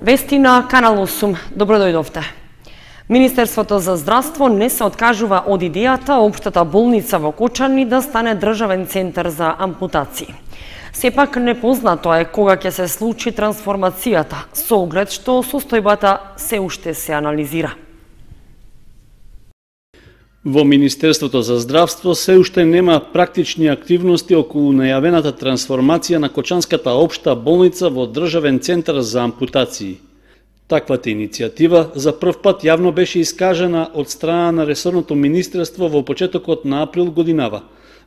Вести на Канал 8. Добро дојдовте. Министерството за здравство не се откажува од идејата општата болница во Кочани да стане државен центар за ампутации. Сепак непознато е кога ќе се случи трансформацијата, со оглед што состојбата се уште се анализира. Во Министерството за здравство се уште нема практични активности околу најавената трансформација на Кочанската општа болница во државен центар за ампутации. Таквата иницијатива за прв пат јавно беше искажена од страна на ресорното министерство во почетокот на април годинава,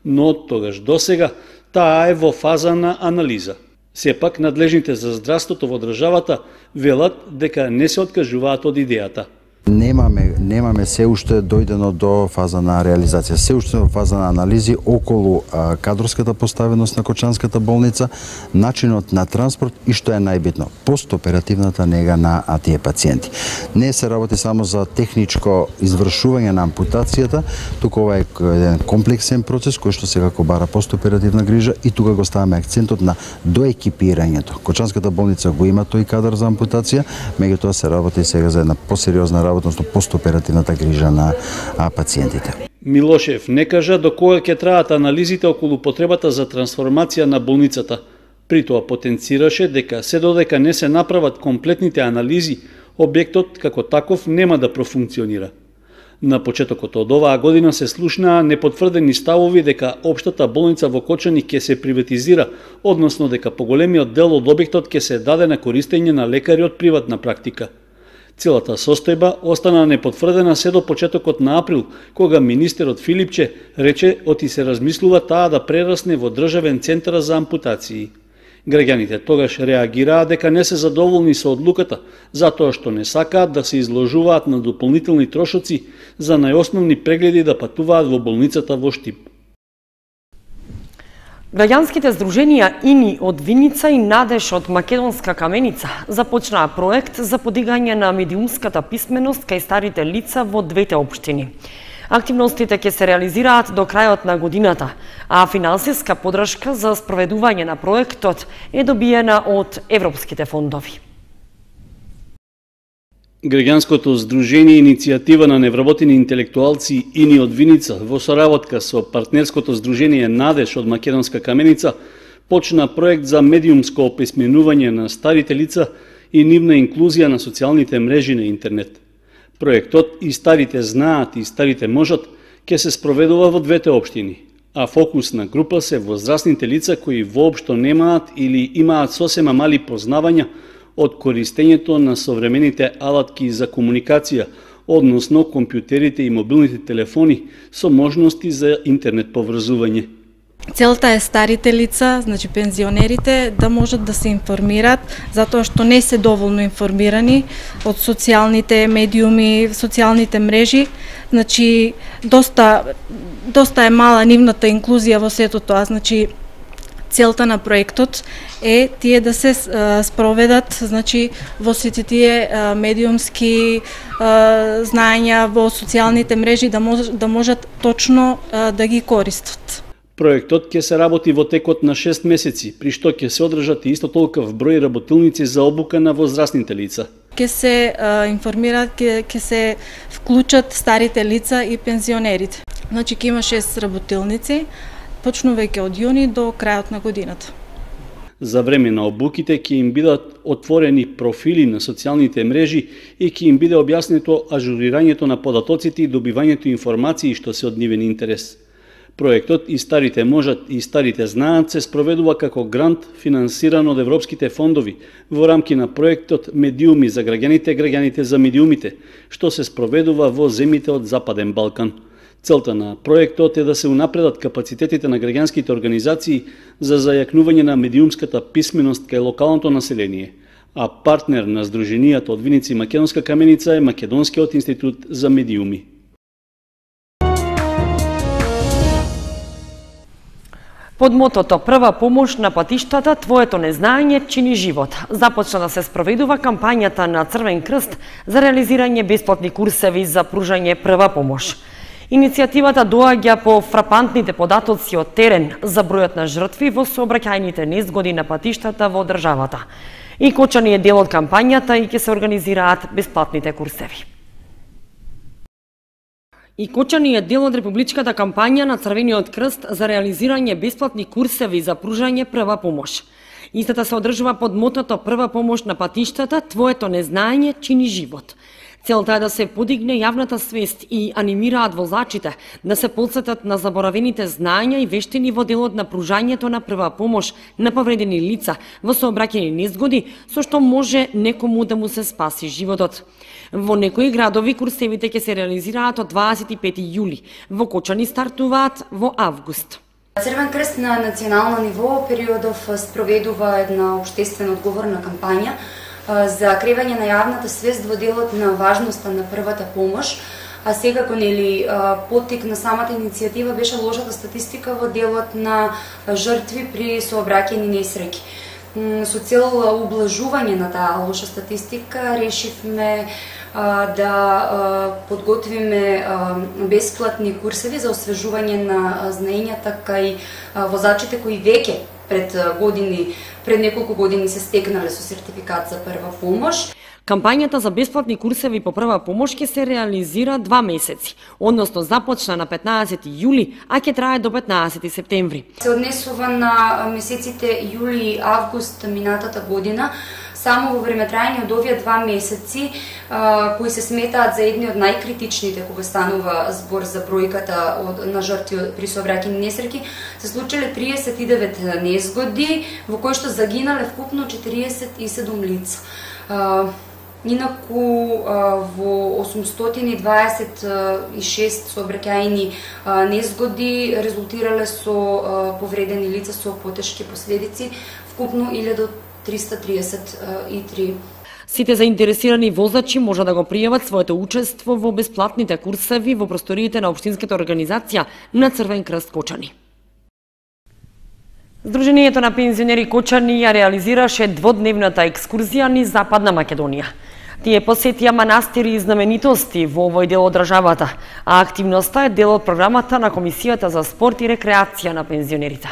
но од тогаш досега таа е во фаза на анализа. Сепак надлежните за здравството во државата велат дека не се откажуваат од идејата. Немаме се уште дојдено до фаза на реализација. Се уште во фаза на анализи околу кадрската поставеност на Кочанската болница, начинот на транспорт и што е најбитно, постоперативната нега на тие пациенти. Не се работи само за техничко извршување на ампутацијата, туку ова е еден комплексен процес кој што секако бара постоперативна грижа и тука го ставаме акцентот на доекипирањето. Кочанската болница го има тој кадар за ампутација, меѓутоа се работи сега за една посериозна работа, односно постоперативната грижа на пациентите. Милошев не кажа до кога ќе траат анализите околу потребата за трансформација на болницата. При тоа потенцираше дека се додека не се направат комплетните анализи, објектот како таков нема да профункционира. На почетокот од оваа година се слушнаа непотврдени ставови дека општата болница во Кочани ќе се приватизира, односно дека поголемиот дел од објектот ќе се даде на користење на лекари од приватна практика. Целата состојба остана непотврдена се до почетокот на април, кога министерот Филипче рече оти се размислува таа да прерасне во државен центар за ампутации. Граѓаните тогаш реагираа дека не се задоволни со одлуката, затоа што не сакаат да се изложуваат на дополнителни трошоци за најосновни прегледи да патуваат во болницата во Штип. Граѓанските здруженија ИНИ од Виница и Надеж од Македонска Каменица започнаа проект за подигање на медиумската писменост кај старите лица во двете општини. Активностите ќе се реализираат до крајот на годината, а финансиска подршка за спроведување на проектот е добиена од европските фондови. Граѓанското здружение иницијатива на невработени интелектуалци ИНИ од Виница во соработка со партнерското здружение Надеж од Македонска Каменица почна проект за медиумско описменување на старите лица и нивна инклузија на социјалните мрежи на интернет. Проектот И старите знаат и старите можат ќе се спроведува во двете општини, а фокусна група се возрастните лица кои воопшто немаат или имаат сосема мали познавања од користењето на современите алатки за комуникација, односно компјутерите и мобилните телефони со можности за интернет поврзување. Целта е старите лица, значи пензионерите, да можат да се информираат, затоа што не се доволно информирани од социјалните медиуми, социјалните мрежи. Значи, доста е мала нивната инклузија во сето тоа. Значи, целта на проектот е тие да се спроведат, значи, во сите тие медиумски знаења во социјалните мрежи, да можат точно да ги користат. Проектот ќе се работи во текот на 6 месеци, при што ќе се одржат и исто толков број работилници за обука на возрастните лица. Ќе се информираат, ќе се вклучат старите лица и пензионерите. Значи ќе има 6 работилници, почнувајќи од јуни до крајот на годината. За време на обуките ќе им бидат отворени профили на социјалните мрежи и ќе им биде објаснето ажурирањето на податоците и добивањето информации што се од нивен интерес. Проектот И старите можат и старите знаат се спроведува како грант финансиран од европските фондови во рамки на проектот Медиуми за граѓаните, граѓаните за медиумите, што се спроведува во земјите од Западен Балкан. Целта на проектот е да се унапредат капацитетите на граѓанските организации за зајакнување на медиумската писменост кај локалното население, а партнер на здруженијата од Виница и Македонска Каменица е Македонскиот институт за медиуми. Под мотото "Прва помош на патиштата, твоето незнаење чини живот" започна да се спроведува кампањата на Црвен крст за реализирање бесплатни курсеви за пружање прва помош. Иницијативата доаѓа по фрапантните податоци од терен за бројот на жртви во сообраќајните незгоди на патиштата во државата. И Кочани е дел од кампањата и ќе се организираат бесплатните курсеви. И Кочани е дел од републичката кампања на Црвениот крст за реализирање бесплатни курсеви за пружање прва помош. Истата се одржува под мотото прва помош на патиштата, твоето незнаење чини живот. Целта е да се подигне јавната свест и анимираат возачите да се потсетат на заборавените знаења и вештини во делот на пружањето на прва помош на повредени лица во сообраќајни незгоди, со што може некому да му се спаси животот. Во некои градови курсевите ќе се реализираат од 25 јули, во Кочани стартуваат во август. Црвен крст на национално ниво периодов спроведува една општествено одговорна кампања за кревање на јавната свест во делот на важноста на првата помош, а секако нели поттик на самата иницијатива беше лошата статистика во делот на жртви при сообраќајни несреќи. Со цел ублажување на таа лоша статистика решивме да подготвиме бесплатни курсеви за освежување на знаењата кај возачите кои веќе пред неколку години се стекнале со сертификат за прва помош. Кампањата за бесплатни курсеви по прва помош ќе се реализира 2 месеци, односно започна на 15 јули, а ќе трае до 15 септември. Се однесува на месеците јули и август минатата година. Само во времетрајање од овие 2 месеци, кои се сметаат за едни од најкритичните кога станува збор за бројката на жртви при сообраќајни несреќи, се случиле 39 незгоди, во кои што загинале вкупно 47 лица. Инаку во 826 сообраќајни незгоди резултирале со повредени лица со потешки последици, вкупно 1333. Сите заинтересирани возачи може да го пријават своето учество во бесплатните курсеви во просториите на општинската организација на Црвен крст Кочани. Сдруженијето на пензионери Кочани ја реализираше дводневната екскурзија низ Западна Македонија. Тие посетија манастири и знаменитости во овој дел од државата, а активноста е дел од програмата на Комисијата за спорт и рекреација на пензионерите.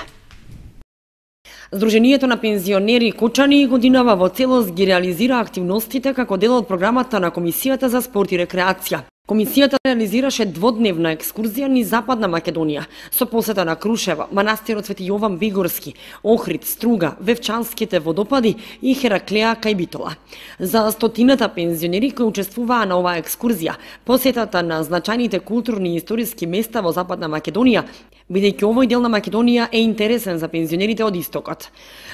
Сдруженијето на пензионери Кочани годинава во целост ги реализира активностите како дел од програмата на Комисијата за спорт и рекреација. Комисијата реализираше дводневна екскурзија низ Западна Македонија со посета на Крушева, манастирот Свети Јован Бигорски, Охрид, Струга, Вевчанските водопади и Хераклеа кај Битола. За стотината пензионери кои учествуваа на оваа екскурзија, посетата на значајните културни и историски места во Западна Македонија, бидејќи овој дел на Македонија е интересен за пензионерите од истокот.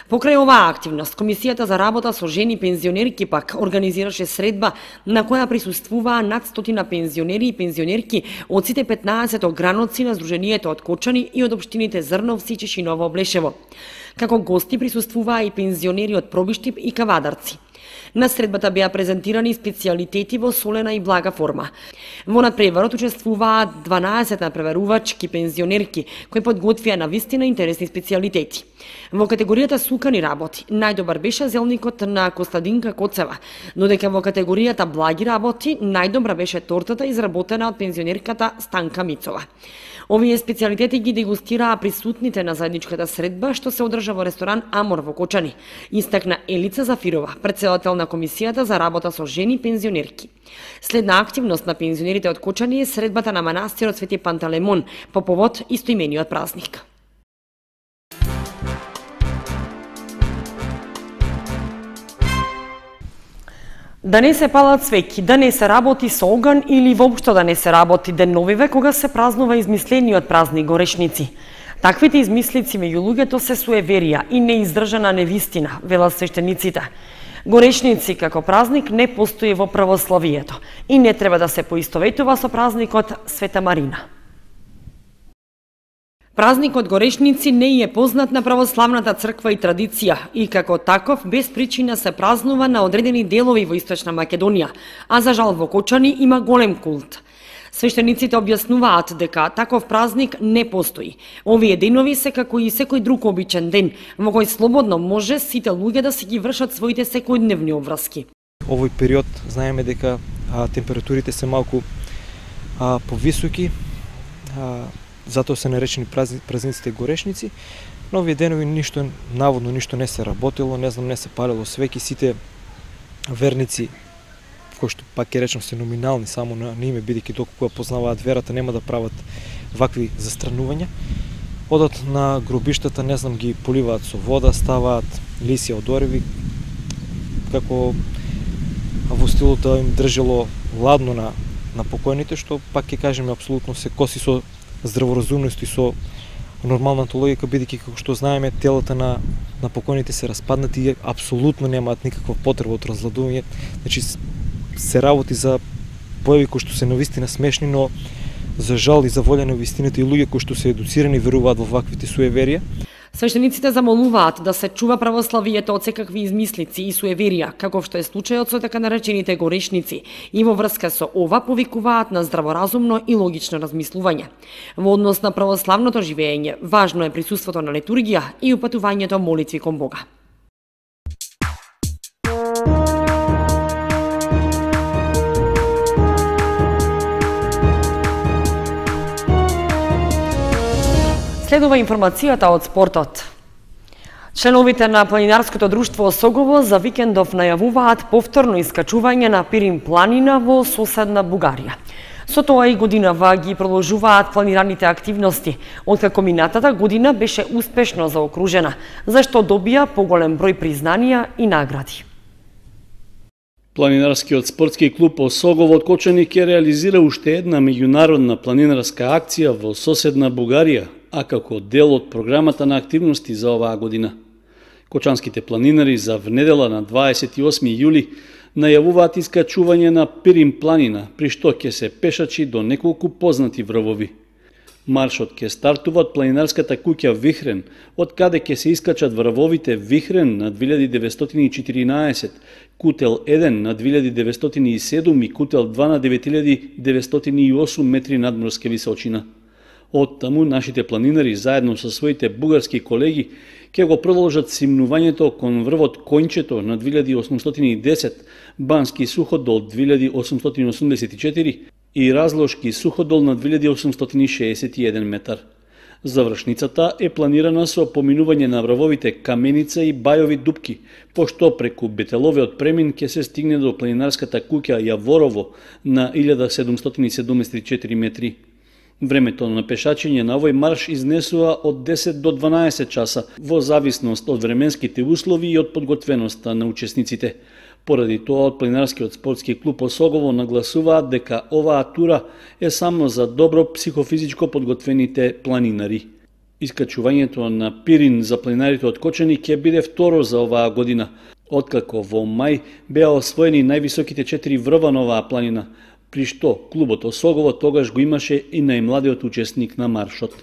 Покрај оваа активност, Комисијата за работа со жени пензионерки пак организираше средба на која присуствуваа над 100 пензионери и пензионерки од сите 15 граноци на Сдруженијето од Кочани и од општините Зрновци, Чешиново, Блешево. Како гости присуствуваа и пензионери од Пробиштип и Кавадарци. На средбата беа презентирани специјалитети во солена и блага форма. Во надпреварот учествуваа 12 надпреварувачки пензионерки кои подготвија на вистина интересни специјалитети. Во категоријата сукани работи најдобар беше зелникот на Костадинка Коцева, додека во категоријата благи работи најдобра беше тортата изработена од пензионерката Станка Мицова. Овие специјалитети ги дегустираа присутните на заедничката средба што се одржа во ресторан Амор во Кочани, истакна Елица Зафирова, претседател на Комисијата за работа со жени пензионерки. Следна активност на пензионерите од Кочани е средбата на манастирот Свети Пантелеймон по повод истоимениот празник. Да не се палат свеќи, да не се работи со оган или воопшто да не се работи деновиве кога се празнува измислениот празник Горешници. Таквите измислици меѓу луѓето се суеверија и неиздржана невистина, велат свештениците. Горешници како празник не постои во православието и не треба да се поистоветува со празникот Света Марина. Празникот Горешници не е познат на православната црква и традиција и како таков без причина се празнува на одредени делови во Источна Македонија, а за жал во Кочани има голем култ. Свештениците објаснуваат дека таков празник не постои. Овие денови се како и секој друг обичен ден, во кој слободно може сите луѓе да си ги вршат своите секојдневни обврски. Овој период знаеме дека температурите се малку повисоки, затоа се наречени празниците Горешници. На овие денови наводно ништо не се работело, не се палело свеќи, сите верници, кои што пак ќе речам се номинални само на име, бидејќи доколку ја познаваат верата, нема да прават вакви застранувања. Одат на гробиштата, ги поливаат со вода, ставаат лисија од ореви, како во стилот да им држело ладно на покојните, што пак ќе кажеме апсолутно се коси со здраворазумност и со нормалната логика, бидејќи како што знаеме телата на покојните се распаднати и апсолутно немаат никаква потреба од разладување. Значи се работи за појави кои што се навистина смешни, но за жал и за волја на вистината и луѓе кои што се едуцирани веруваат во ваквите суеверија. Свештениците замолуваат да се чува православието од секакви измислици и суеверија, како што е случајот со така наречените горешници, и во врска со ова повикуваат на здраворазумно и логично размислување. Во однос на православното живење, важно е присуството на литургија и упатувањето молитви кон Бога. Следува информацијата од спортот. Членовите на планинарското друштво Осогово за викендов најавуваат повторно искачување на Пирин планина во соседна Бугарија. Со тоа и годинава ги продолжуваат планираните активности, откако минатата година беше успешно заокружена, зашто добија поголем број признанија и награди. Планинарскиот спортски клуб Осогово од Кочани ќе реализира уште една меѓународна планинарска акција во соседна Бугарија, а како дел од програмата на активности за оваа година. Кочанските планинари за внедела на 28 јули најавуваат искачување на Пирин планина, при што ќе се пешачи до неколку познати врвови. Маршот ќе стартува од планинарската куќа Вихрен, од каде ќе се искачат врвовите Вихрен на 2914, Кутел 1 на 2907 и Кутел 2 на 9908 метри надморска височина. Од таму нашите планинари заедно со своите бугарски колеги ќе го продолжат симнувањето кон врвот Коњчето на 2810, Бански суходол 2884 и Разлошки суходол на 2861 метар. Завршницата е планирана со поминување на врвовите Каменица и Бајови дупки, пошто преку Бетеловиот премин ќе се стигне до планинарската куќа Јаворово на 1774 метри. Времето на пешачење на овој марш изнесува од 10 до 12 часа, во зависност од временските услови и од подготвеноста на учесниците. Поради тоа, од планинарскиот спортски клуб Осогово нагласуваат дека оваа тура е само за добро психофизичко подготвените планинари. Искачувањето на Пирин за планинарите од Кочани ќе биде второ за оваа година, откако во мај беа освоени највисоките 4 врва на оваа планина, при што клубот Осогово тогаш го имаше и најмладиот учесник на маршот.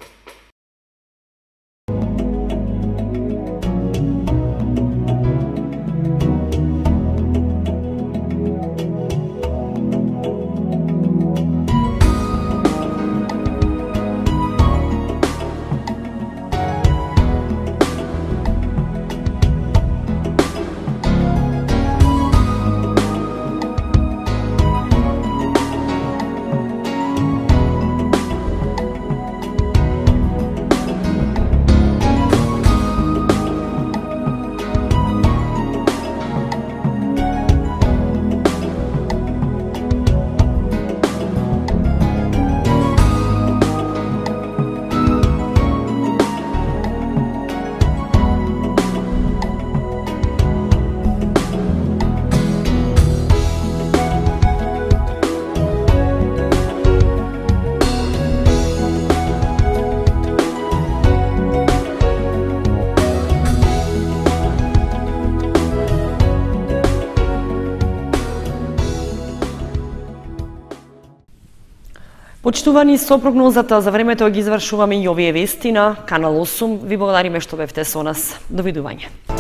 Почитувани, со прогнозата за времето ги извршуваме и овие вести на Канал 8. Ви благодариме што бевте со нас. Довидување.